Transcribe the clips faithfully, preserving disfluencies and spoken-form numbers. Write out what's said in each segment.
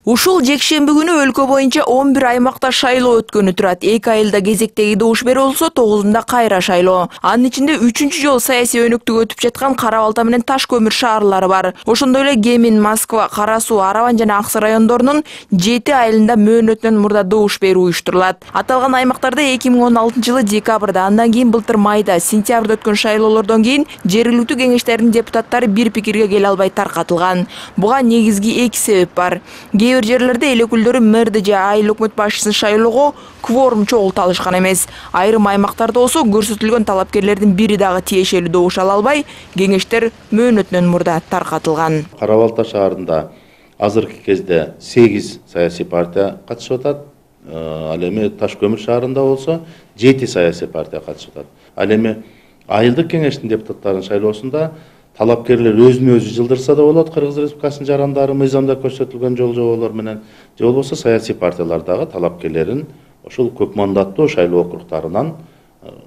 Ушул жекшемби күнү өлкө боюнча он бир аймакта шайлоо өткөнү турат. эки айылда кезектеги добуш берүү болсо, тогузунда кайра шайлоо. Анын ичинде үчүнчү жолу саясий өнөктүк өтүп жаткан Кара Балта менен Таш көмүр шаарлары бар. Ошондой эле Кемин, Москва, Кара Суу, Араван жана Аксы райондорунун жети айылында мөөнөтүнөн мурда добуш берүү уюштурулат. Аталган аймактарда эки миң он алтынчы жылы декабрда, андан кийин былтыр майда, сентябрда өткөн шайлоолордон кийин жергиликтүү кеңештердин депутаттары бир пикирге келе албай таркатылган. Буга негизги эки себеп бар. Кээ бир жерлерде эл өкүлдөрү мэрди же айыл өкмөт башчысын шайлоого кворум чогулта алышкан эмес. Айрым аймактарда болсо көрсөтүлгөн талапкерлердин бири дагы тиешелүү добуш ала албай, кеңештер мөөнөтүнөн мурда таркатылган. Кара Балта шаарында азыркы кезде сегиз саясий партия катышып атат. Ал эми Таш көмүр шаарында болсо жети саясий партия катышып атат. Ал эми айылдык кеңештин депутаттарынын шайлоосунда талапкерлер өзүн өзү жылдырса да болот, Кыргыз Республикасынын жарандары мыйзамда көрсөтүлгөн жол-жоболор менен, же болбосо саясий партиялардагы талапкерлерин ошол көп мандаттуу шайлоо округтарынан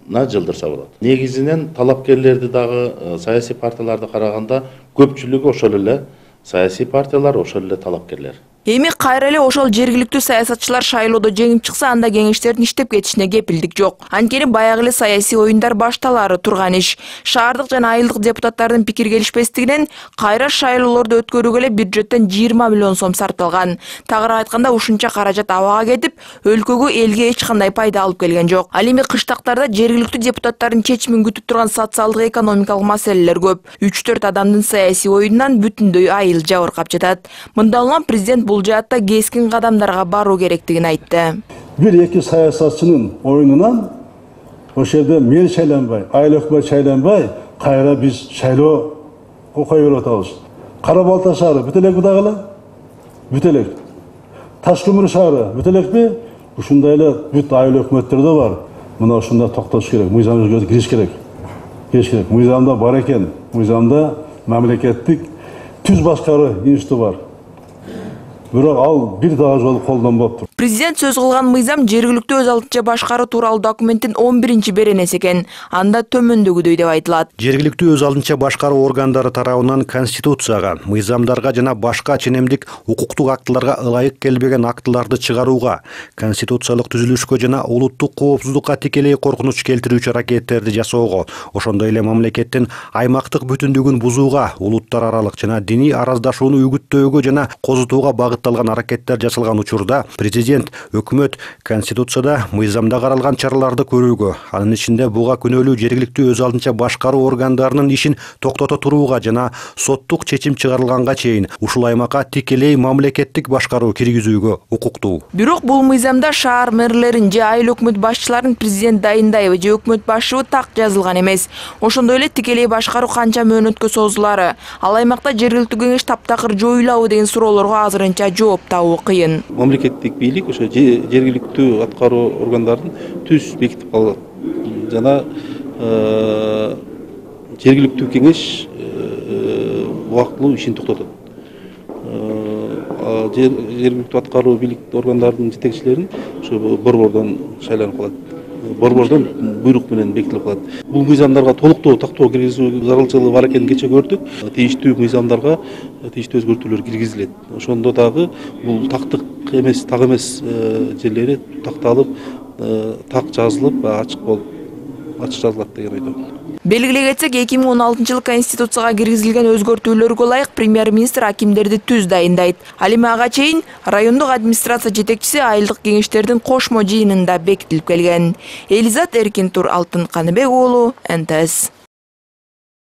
жылдырса болот. Негизинен талапкерлерди дагы саясий партияларды караганда көпчүлүгү ошол эле саясий партиялар, ошол эле талапкерлер. Эми кайра эле ошол жергиликтүү саясатчылар шайлоодо жеңип чыкса, анда кеңештердин иштеп кетишине кепилдик жок. Анткени баягы эле саясий оюндар башталары турган иш. Шаардык жана айылдык депутаттардын пикир келишпестигинен кайра шайлоолорду өткөрүүгө эле бюджеттен жыйырма миллион сом сарпталган. Тагыраак айтканда, ушунча каражат абага кетип, өлкөгө, элге эч кандай пайда алып келген жок. Ал эми кыштактарда жергиликтүү депутаттардын чечимин күтүп турган социалдык экономикалык маселелер көп. үч төрт адамдын саясий оюнунан бүтүндөй айыл жабыркап жатат. Мында улам президент бул жаатта кескин кадамдарга баруу керектигин айтты. Бир-эки саясатчынын оюнунан ошол жерде мен шайланбай, айыл өкмөт шайланбай, кайра биз шайлоо окуй берип атабыз. Кара Балта шаары бүт элекпи дагы? Бүт элек. Таш көмүр шаары бүт элекпи? Ушундай эле бүт айыл өкмөттөрдө бар. Мына ушунда токтош керек, мыйзам өзгөртүп кириш керек. Кириш керек. Мыйзамда бар экен. Мыйзамда мамлекеттик түз башкаруу институты бар. Бирок ал бир дагы жолу колдонбоптур. Президент сөз кылган мыйзам жергиликтүү өз алдынча башкаруу тууралуу документтин он биринчи беренеси экен. Анда төмөндөгүдөй деп айтылат. Жергиликтүү өз алдынча башкаруу органдары тарабынан Конституцияга, мыйзамдарга жана башка ченемдик укуктук актыларга ылайык келбеген актыларды чыгарууга, конституциялык түзүлүшкө жана улуттук коопсуздукка тикелей коркунуч келтирүүчү аракеттерди жасоого, ошондой эле мамлекеттин аймактык бүтүндүгүн бузууга, улуттар аралык жана диний араздашууну үгүттөөгө жана козутууга багытталган аракеттер жасалган учурда президент өкмөт Конституцияда мыйзамда каралган чараларды көрүүгө, анын ичинде буга күнөөлүү жергиликтүү өз алдынча башкаруу органдарынын ишин токтото турууга жана соттук чечим чыгарылганга чейин ушул аймакка тикелей мамлекеттик башкаруу киргизүүгө укуктуу. Бирок бул мыйзамда шаар мэрлерин же айыл өкмөт башчыларын президент дайындайбы же өкмөт башчыбы так жазылган эмес. Ошондой эле тикелей башкаруу канча мөөнөткө созулары, ал аймакта жергиликтүү кеңеш таптакыр жоюлабы деген суроолорго азырынча жооп табуу кыйын. Мамлекеттик бийлик ошо жергиликтүү аткаруу органдарын түз бекитип калат жана жергиликтүү кеңеш убактылуу ишин токтотот. Жергиликтүү аткаруу бийлик органдарынын жетекчилерин ошо борбордон шайланып калат. Борбордон буйрук менен бекитилип калат. Бул мыйзамдарга толуктоо тактоо киргизүү зарылчылыгы бар экенин кече көрдүк. Тийиштүү мыйзамдарга тийиштүү өзгөртүүлөр киргизилет. Ошондо дагы бул тактык эмес, так эмес жерлери такталып, так жазылып, ачык болуп, ачык жазылат деген ойдо. Белгилей кетсек, эки миң он алтынчы жылы Конституцияга киргизилген өзгөртүүлөргө ылайык премьер-министр акимдерди түз дайындайт. Ал эми ага чейин райондук администрация жетекчиси айылдык кеңештердин кошмо жыйынында бекитилип келген. Элизат Эркинтур, Алтын Каныбек уулу, эн тэ эс.